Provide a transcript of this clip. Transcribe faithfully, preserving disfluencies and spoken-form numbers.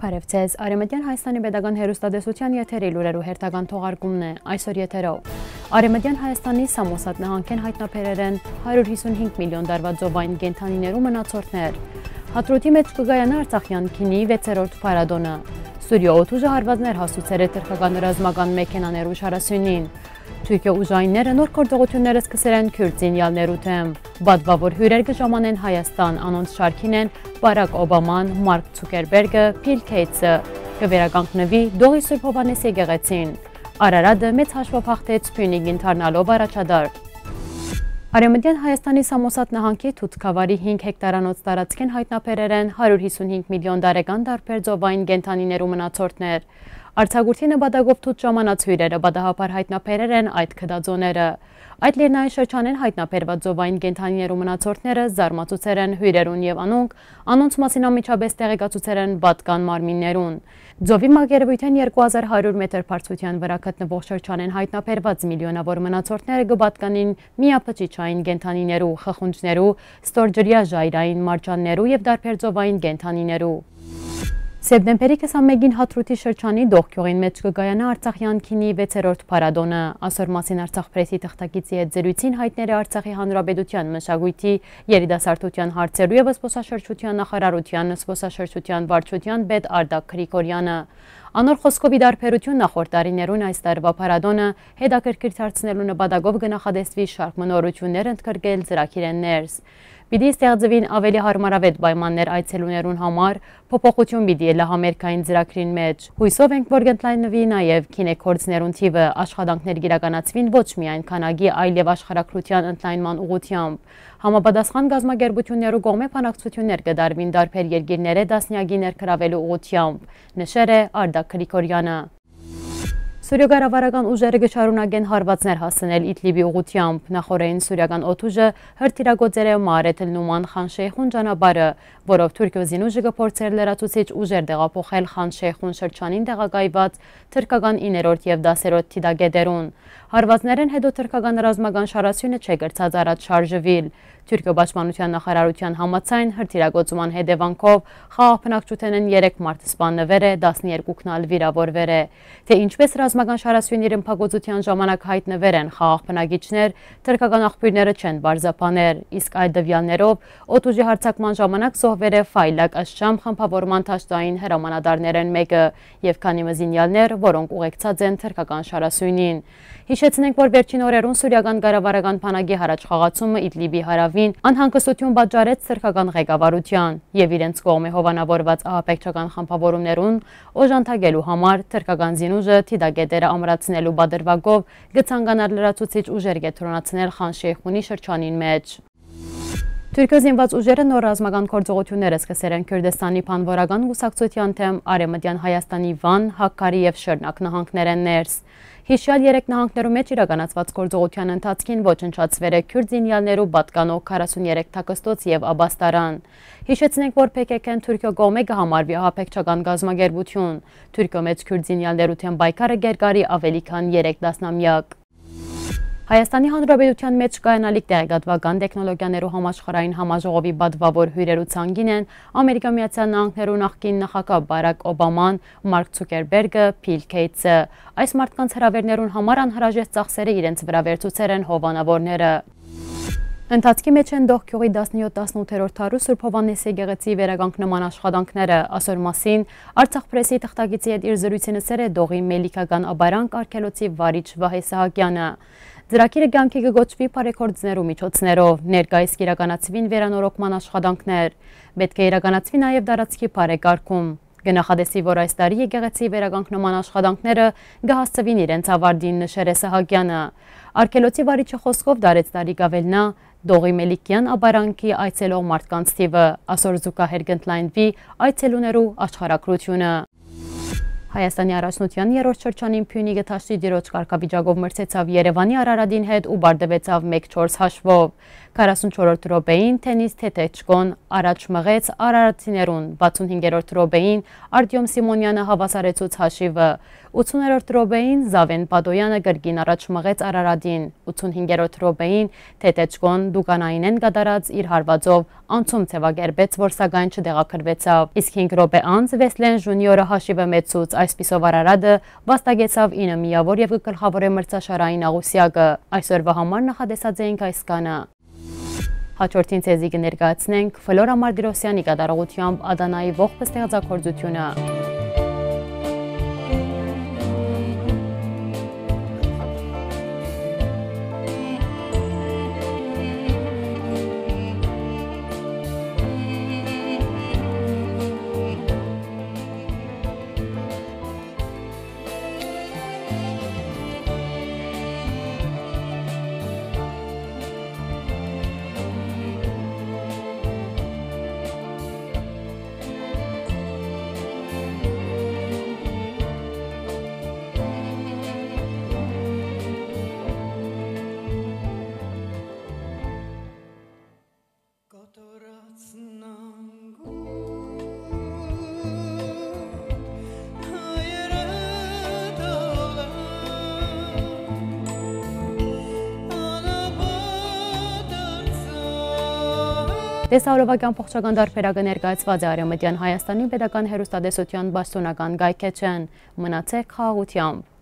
Բարեւ ձեզ։ Արեւմտեան Հայաստանի Պետական Հեռուստատեսութեան եթերի լուրերու հերթական թողարկումն է այսօր եթերով։ Արեւմտեան Հայաստանի Սամոսատ նահանգէն յայտնաբերեր են հարիւր հիսուն հինգ միլիոն տարուայ ծովային կենդանիներու մնացորդներ։ Հադրութի մէջ կը կայանայ Արցախեան գինի վեցերորդ փառատոնը։ Սուրիոյ օդուժը հարուածներ հասցուցեր է թրքական ռազմական մեքենաներու շարասիւնին։ Թուրքիոյ ուժայինները նոր գործողութիւններ սկսեր են քիւրտ զինեալներու դէմ։ Պատուաւոր հիւրեր կը ժամանեն Հայաստան, անոնց շարքին են Բարակ Օբաման, Մարկ Ցուկերբերգը, Փիլ Քեյթսը։ Կը վերականգնուի Դողի Սուրբ Յովհաննէս եկեղեցին։ Արարատը մեծ հաշվով հաղթեց Փիւնիկին դառնալով առաջատար։ Արեւմտեան Հայաստանի Սամոսատ նահանգի Թութ գաւառի հինգ հեկտարանոց տարածքէն յայտնաբերեր են հարիւր հիսուն հինգ միլիոն տարեկան տարբեր ծովային կենդանիներու մնացորդներ։ Արձակուրդի նպատակով թութ ժամանած հիւրերը պատահաբար յայտնաբերեր են այդ գտածոները։ Այդ լեռնային շրջանէն յայտնաբերուած ծովային կենդանիներու մնացորդները զարմացուցեր են հիւրերուն եւ անոնք անոնց մասին անմիջապէս տեղեկացուցեր են պատկան մարմիններուն։ Ծովի մակերեւոյթէն երկու հազար հարիւր մետր բարձրութեան վրայ գտնուող շրջանէն յայտնաբերուած միլիոնաւոր մնացորդները կը պատկանին միաբջիջային կենդանիներու, խխունջներու, ստորջրեայ ժայռային, մարջաններու եւ տարբեր ծովային կենդանիներու։ Սեպտեմբերի քսանմէկին Հադրութի շրջանի Դողգիւղին մէջ կը կայանայ Արցախեան գինի վեցերորդ փառատոնը։ Ասոր մասին Արցախ Պրեսի թղթակիցի հետ զրոյցին յայտներ է Արցախի Հանրապետութեան մշակոյթի, երիտասարդութեան հարցերու եւ զբօսաշրջութեան նախարարութեան զբօսաշրջութեան վարչութեան պետ Արտակ Գրիգորյանը։ Անոր խօսքով, ի տարբերութիւն նախորդ տարիներուն, այս տարուայ փառատոնը հետաքրքիր դարձնելու նպատակով կը նախատեսուի շարք մը նորութիւններ ընդգրկել ծրագիրէն ներս։ Պիտի ստեղծուին աւելի յարմարաւէտ պայմաններ այցելուներուն համար, փոփոխութիւն պիտի ելլայ համերգային ծրագրին մէջ։ Յոյսով ենք, որ կ'ընդլայնուի նաեւ գինեգործներուն թիւը, աշխատանքներ կ'իրականացուին ոչ միայն քանակի, այլեւ աշխարհագրութեան ընդլայնման ուղղութեամբ։ Համապատասխան կազմակերպութիւններու կողմէ բանակցութիւններ կը տարուին տարբեր երկիրներէ տասնեակի ներգրաւելու ուղղութեամբ, նշեր է Արտակ Գրիգորյանը։ Սուրիոյ կառավարական ուժերը կը շարունակեն հարուածներ հասցնել Իդլիբի ուղղութեամբ։ Նախօրէին սուրիական օդուժը հրթիռակոծեր է Մաարեթ ալ Նուման Խան Շեյխուն ճանապարհը, որով Թուրքիոյ զինուժը կը փորձէր լրացուցիչ ուժեր տեղափոխել Խան Շեյխուն շրջանին տեղակայուած թրքական իններորդ եւ տասերորդ դիտագետերուն։ Հարուածներէն յետոյ թրքական ռազմական շարասիւնը չէ կրցած առաջ շարժուիլ։ Թուրքիոյ պաշտպանութեան նախարարութեան համաձայն, հրթիռակոծման հետեւանքով խաղաղ բնակչութենէն երեք մարդ սպաննուեր է, տասներկուքն ալ վիրաւորուեր է։ Թէ ինչպէս ռազմական շարասիւնի ռմբակոծութեան ժամանակ յայտնուեր են խաղաղ բնակիչներ, թրքական աղբիւրները չեն պարզաբաներ, իսկ այդ տուեալներով օդուժի յարձակման ժամանակ զոհուեր է Ֆայլակ Ըշշամ խմբաւորման դաշտային հրամանատարներէն մէկը եւ քանի մը զինեալներ, որոնք ուղեկցած են թրքական շարասիւնին։ Յիշեցնենք, որ վերջին օրերուն սուրիական կառավարական բանակի յառաջխաղացումը Իդլիբի հարաւին անհանգստութիւն պատճառեց թրքական ղեկավարութեան եւ իրենց կողմէ հովանաւորուած ահաբեկչական խմբաւորումներուն օժանդակելու համար թրքական զինուժը դիտագետերը ամրացնելու պատրուակով կը ցանկանար լրացուցիչ ուժեր կեդրոնացնել Խան Շեյխունի շրջանին մէջ։ Թուրքիոյ զինուած ուժերը նոր ռազմական գործողութիւններ սկսեր են Քուրդիստանի բանուորական կուսակցութեան դէմ Արեւմտեան Հայաստանի Վան, Հաքարի եւ Շըրնակ նահանգներէն ներս։ Յիշեալ երեք նահանգներու մէջ իրականացուած գործողութեան ընթացքին ոչնչացուեր է քիւրտ զինեալներու պատկանող քառասուն երեք թաքստոց եւ աբաստարան։ Յիշեցնենք, որ Փ Ք Ք-ն Թուրքիոյ կողմէ կը համարուի ահաբեկչական կազմակերպութիւն։ Թուրքիոյ մէջ քիւրտ զինեալներու դէմ պայքարը կ'երկարի աւելի քան երեք տասնամեակ։ Հայաստանի Հանրապետութեան մէջ կայանալիք տեղեկատուական տեխնոլոգիաներու համաշխարհային համաժողովի պատուաւոր հիւրերու ցանկին են Ամերիկա Միացյալ Նահանգներու նախկին նախագահ Բարակ Օբաման, Մարկ Ցուկերբերգը, Փիլ Քեյթսը։ Այս մարդկանց հրաւերներուն համար անհրաժեշտ ծախսերը իրենց վրայ վերցուցեր են հովանաւորները։ Ընթացքի մէջ են Դողգիւղի տասնյոթ-տասնութերորդ դարու Սուրբ Յովհաննէս եկեղեցի վերականգնման աշխատանքները։ Ասոր մասին Արցախ Պրեսի թղթակիցի հետ իր զրոյցին ըսեր է Դողի Մելիքական ապարանք արգելոցի վարիչ Վահէ Սահակեանը։ Ծրագիրը կեանքի կը կոչուի բարեգործներու միջոցներով, ներկայիս կ'իրականացուին վերանորոգման աշխատանքներ։ Պէտք է իրականացուի նաեւ տարածքի բարեկարգում։ Կը նախատեսուի, որ այս տարի եկեղեցի վերականգնման աշխատանքները կը հասցուին իրենց աւարտին, նշեր է Սահակեանը։ Արգելոցի վարիչը խօսքով, դարեց տարի կ'աւելնայ Դողի Մելիքեան ապարանքի այցելող մարդկանց թիւը, ասոր զուգահեռ կ'ընդլայնուի այցելուներու աշխարհագրութիւնը։ Հայաստանի առաջնության երրորդ շրջանին Փիւնիկը դաշտի տիրոջ կարգավիճակով մրցեցաւ Երեւանի Արարատին հետ ու պարտուեցաւ մէկ չորս հաշվով։ Քառասունչորրորդ րոպեին Թենիս Թեթեչկոն առաջ մղեց արարատիներուն, վաթսունհինգերորդ րոպեին Արտիոմ Սիմոնեանը հաւասարեցուց հաշիվը, ութսուներորդ րոպեին Զաւեն Պադոյանը կրկին առաջ մղեց Արարատին, ութսունհինգերորդ րոպեին Թեթեչկոն Դուկանայինէն կատարած իր հարուածով անցում ձեւակերպեց, որ սակայն չտեղակրուեցաւ։ Իսկ հինգ րոպէ անց Վեսլեն Ժունիորը հաշիվը մեծցուց, այսպիսով Արարատը վաստակեցաv ինը միաւոր եւ կը գլխաւորէ մրցաշարային աղուսեակը։ Այսօրուայ համար նախատեսած էինք այսքանը։ Հաջորդին ձեզի կը ներկայացնենք Ֆլորա Մարտիրոսեանի կատարողութեամբ Ադանայի ողբը ստեղծագործութիւնը։ Տեսահոլովակի ամբողջական տարբերակը ներկայացուած է Արեամտեան Հայաստանի պետական հեռուստատեսութեան պաշտօնական կայքէջէն։ Մնացէք խաղաղութեամբ։